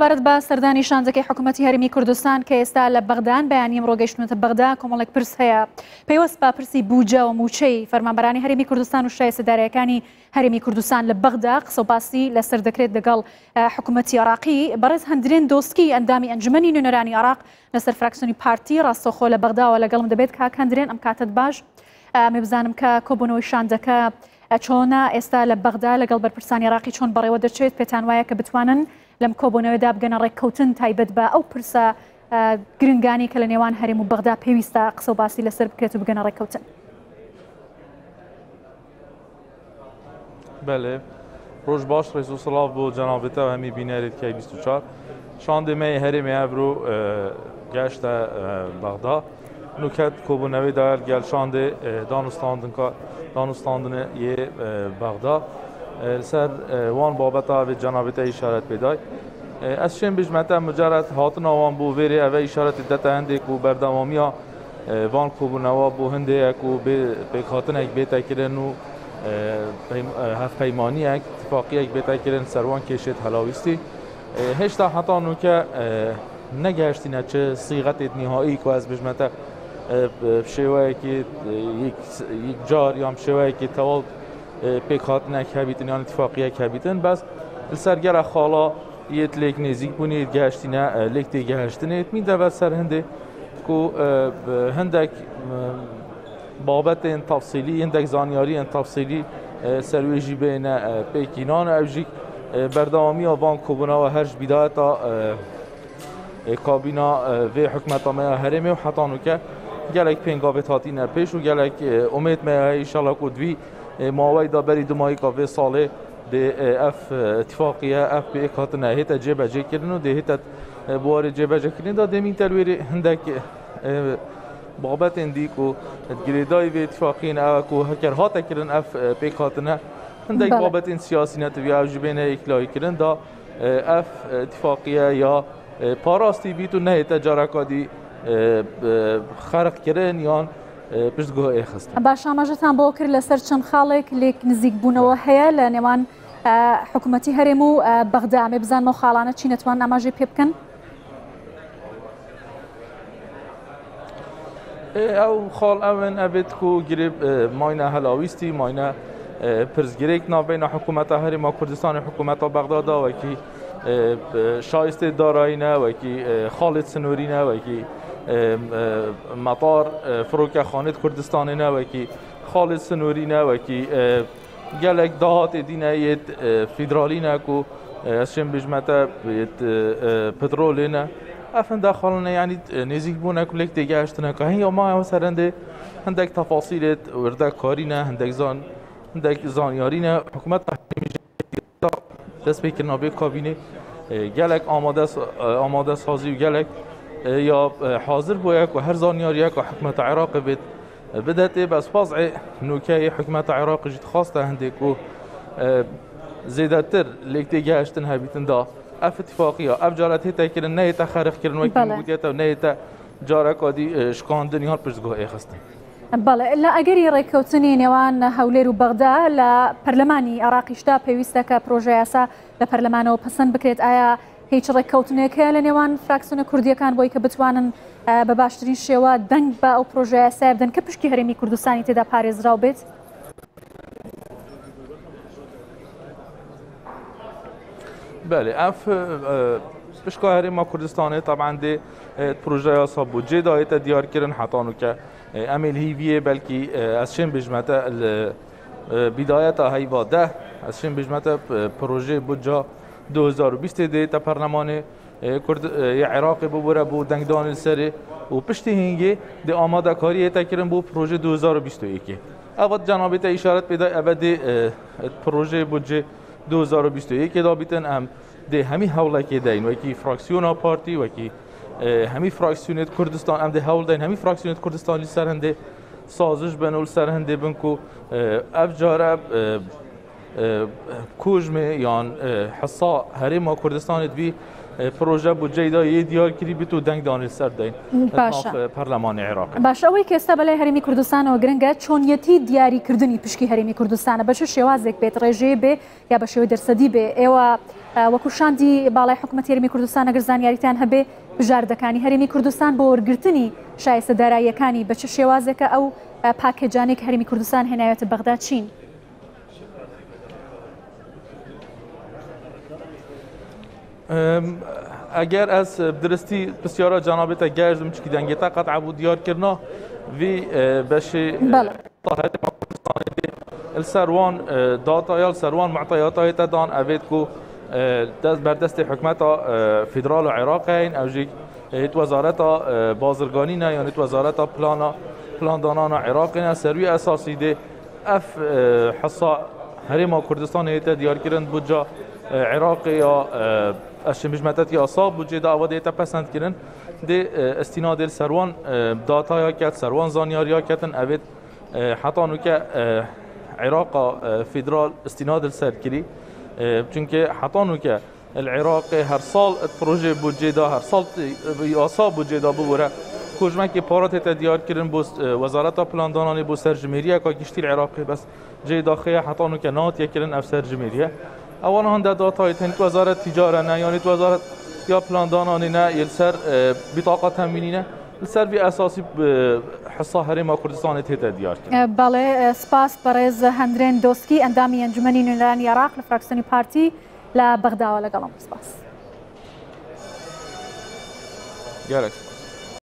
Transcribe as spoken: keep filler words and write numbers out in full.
سەبارەت بە سەردانی شاندەکەی حکوومەتی هەرێمی کوردستان کە ئێستا لە بەغدان بەیانی ئەمڕۆ گەیشتونەتە بەغدا، کۆمەڵێک پرس هەیە پەیوەست بە پرسی بودجە و مووچەی فەرمانبەرانی هەرێمی کوردستان و شایستە دارایەکانی هەرێمی کوردستان لە بەغدا قسە و باسی لەسەر دەکرێت لەگەڵ حکوومەتی عێراقی. بەڕێز هەندرێن دۆسکی ئەندامی ئەنجومەنی نوێنەرانی عێراق لەسەر فراکسیۆنی پارتی ڕاستەوخۆ لە بەغداوە لەگەڵم دەبێت. کاک هەندرێن ئەم کاتت باش. ئەمێ بزانم کە کۆبوونەوەی شاندەکە چۆنە ئێستا لە بەغدا لەگەڵ بەرپرسانی عێراقی چۆن بەڕێوە دەچێت؟ پێتان وایە کە بتوانن لەم کۆبوونەوەدا بگەنە ڕێککەوتن تایبەت بە ئەو پرسە گرنگانی کە لە نێوان هەرێم و بەغدا پێویستە قسە و باسی لەسەر بکرێت و بگەنە ڕێککەوتن؟ بەڵێ، ڕۆژ باش، ڕێز و سڵاو بۆ جەنابێتە و هەمی بینەرێت کەی بیست و چوار. شاندێ مەی هەرێمی ئەڤرۆ گەشتە بەغدا. نوکەت کۆبوونەوەی دایل گەل شاندێ دانوستاندنە یê بەغدا لەسەر وان بابەتە vê جەنابێتە ئیشارەت پێدای. ez şên bijmete mucerred hatina wan bû vêrê ev îşaretê dete hindê ku berdewamiya van kobûnewa bû hindêye ku pêkhatinek bête kirin û hevpeymaniyek tifaqiyek bête kirin ser wan kêşêt helawîstî. Hêşta heta nûke negehiştîne çi sîxetê nîhayî ku ez bijmete şêweyekî yekcar yan şêweyekî tewav pêkhatinek hebîtin yan îttifaqiyek hebîtin bes li ser gera xala yêt lêk nêzîk bûnê yêt gehiştîne lêk tê gehiştinê mîn deve ser hindê ku hindek babetên tafsîlî hindek zanyariyên tafsîlî ser wê jî bêne pêkînan ew jî berdewamiya van kobûnewa her ji bîdayeta kabîna vê hikûmeta me ya herêmê û heta nûke gelek pêngavê hatîne pêş û gelek umêd me heye îşallah ku divî maweyê da berî du mayîka vê salê dê ev îttifaqiye ev pêk hatine hête cêbecêkirin û dê hête biwarê cêbecêkirin da dê mîn telwêrê hindek babetên dî ku girêdayî vê îttifaqiyên ew ku heker hate kirin ev pêk hatine hindek babetên siyasî ne divî ew ji bêne yeklayîkirin da ev îttifaqiye ya parastî bît û nehête careka dî xerqkirin yan پشتگوه ئێخستن. باش، ئاماژەتان بۆ کرد لەسەر چەند خاڵێک لێک نزیک بوونەوە هەیە لە نێوان حکوومەتی هەرێم و بەغدا. ئەمێ بزانم ئەو خاڵانە چی نەتوان ئاماژەی پێ بکەن؟ ئەو خاڵ ئەون ئەبێت کو گرێ ماینە هەلاویستی ماینە پرسگرێک ناوبەینە حکوومەتە هەرێما کوردستان و حکوومەتە بەغدادا وەکی شایستê دارایî وەکی خاڵێت سنوورî ne وەکی مەطار فرۆکەخانێت کوردستانê ne وەکی خاڵێت سنوورî ne وەکی gelek dahatê dîne yêt federalî ne ku ez şên bijmete yêt petrolê ne ev hinde xaline yanî nêzîk bûne ku lêk têgehiştine ka hîn ma ew serendê hindek tefasîlêt wirdekarî ne hindek zan hindek zanyarî ne hikûmeta dest pêkirina vê kabînê gelek amade amade sazî û gelek ya hazır bûye ku her zanyariye ku hikûmeta Iraqê bêt bidetê bes wezê nûkeyê hikûmeta Iraqê jî dixwaste hindê ku zêdetir lêk têgehiştin hebîtin da ev îttifaqiya ev caret hête kirin nehête xerqkirin wekî gotiye te nehête careka dî şikandin yan piştguh êxistin. بەڵێ، لە ئەگەری ڕێککەوتنی نێوان هەولێر و بەغدا لە پەرلەمانی عێراقیشدا پێویستە کە پرۆژە یاسا لە پەرلەمانەوە پەسەند بکرێت. ئایا هیچ ڕێککەوتنێک هەیە لە نێوان فراکسیۆنە کوردیەکان بۆی کە بتوانن بە باشترین شێوە دەنگ بە ئەو پرۆژە یاسایە بدەن کە پشکی هەرێمی کوردستانی تێدا پارێزراو بێت؟ بەڵێ، ئەف پشکا هەرێما کوردستانê طبعاً dê پرۆژە یاسا بودجێ دایێتە دیارکردن هەتا نوکە ئەم هیویە بەلکی ez şên bijmete bidayeta heyva deh ez şên bijmete proje budca du hezar û bîstê dê te perlemanê Kurd yê Iraqê bibûre bû dengdanê li serê û piştî hingê dê amadekariyê te kirin bû proje du hezar û bîst û yekê. Ev cenabê te îşaret pê da ev dê proje budce du hezar û bîst û yekê da bîtin em dê hemî hewlekê deyin wekî fraksiyona partî wekî hemî fraksiyonê Kurdistan em dê hewl deyin hemî fraksiyonê Kurdistan li ser hindê sazış bin û li ser hindê bin ku ev care kujmê yan hesa herêma Kurdistanê divî پروژه بودجه دا یه دیار کری بیت و دەنگ دانی سەر دەین پەرلەمانی عێراق. باشە، ئەوەی کە ئێستا بەلای هەرێمی کوردستانەوە گرنگە چۆنیەتی دیاریکردنی پشکی هەرێمی کوردستانە بە چ شێوازێک بێت، ڕێژەیە بێ یا بە شێوەی دەرسەدی بێ؟ ئێوە وەکو شاندی باڵای حکوومەتی هەرێمی کوردستان ئەگەر زانیاریتان هەبێ بژاردەکانی هەرێمی کوردستان بۆ وەرگرتنی شایستە داراییەکانی بە چ شێوازێکە ئەو پاکێجانێک هەرێمی کوردستان هێناوێتە بەغدا چین؟ اگر از درستی بسیارا جنابت گرزم چکی دنگیتا قطع بود دیار کرنا وی بشی طاهت السروان داتا یا السروان معطيات دان اوید کو دست بر دست حکومت فدرال عراقین او جی هیت وزارت بازرگانی نه یعنی وزارت پلانا پلان دانان عراقین سروی اساسی ده اف حصا هرما کوردستان هیت دیار کردن بودجه عراقی یا اشمجمتات یا صاب بودجه دا اوده تا پسند کردن ده استناد سروان داتا یا کت سروان زانیاریا کتن اوید حتی نو که عراق فدرال استناد سر کری چونکه حتی نو که العراق هر سال پروژه بودجه دا هر سال یاسا بودجه دا ببره کجمه که پارات تا دیار کردن بوست وزارت پلان دانانی بو سرجمیریه که گشتی العراقی بس جای داخله حتی نو که نات یکرن اف سرجمیریه اولا هنده داتای تنت وزارت تجاره نه یعنی وزارت یا پلان دانانی نه یلسر بطاقه تامینی نه لسر بی اساسی حصه هەرێما کوردستان تێتە دیار کرد. بەڵێ، سپاس بەڕێز هەندرێن دۆسکی ئەندامی ئەنجومەنی نوێنەرانی عێراق لە فراکسیۆنی پارتی لە بەغداوە لەگەڵم. سپاس. گەرەک.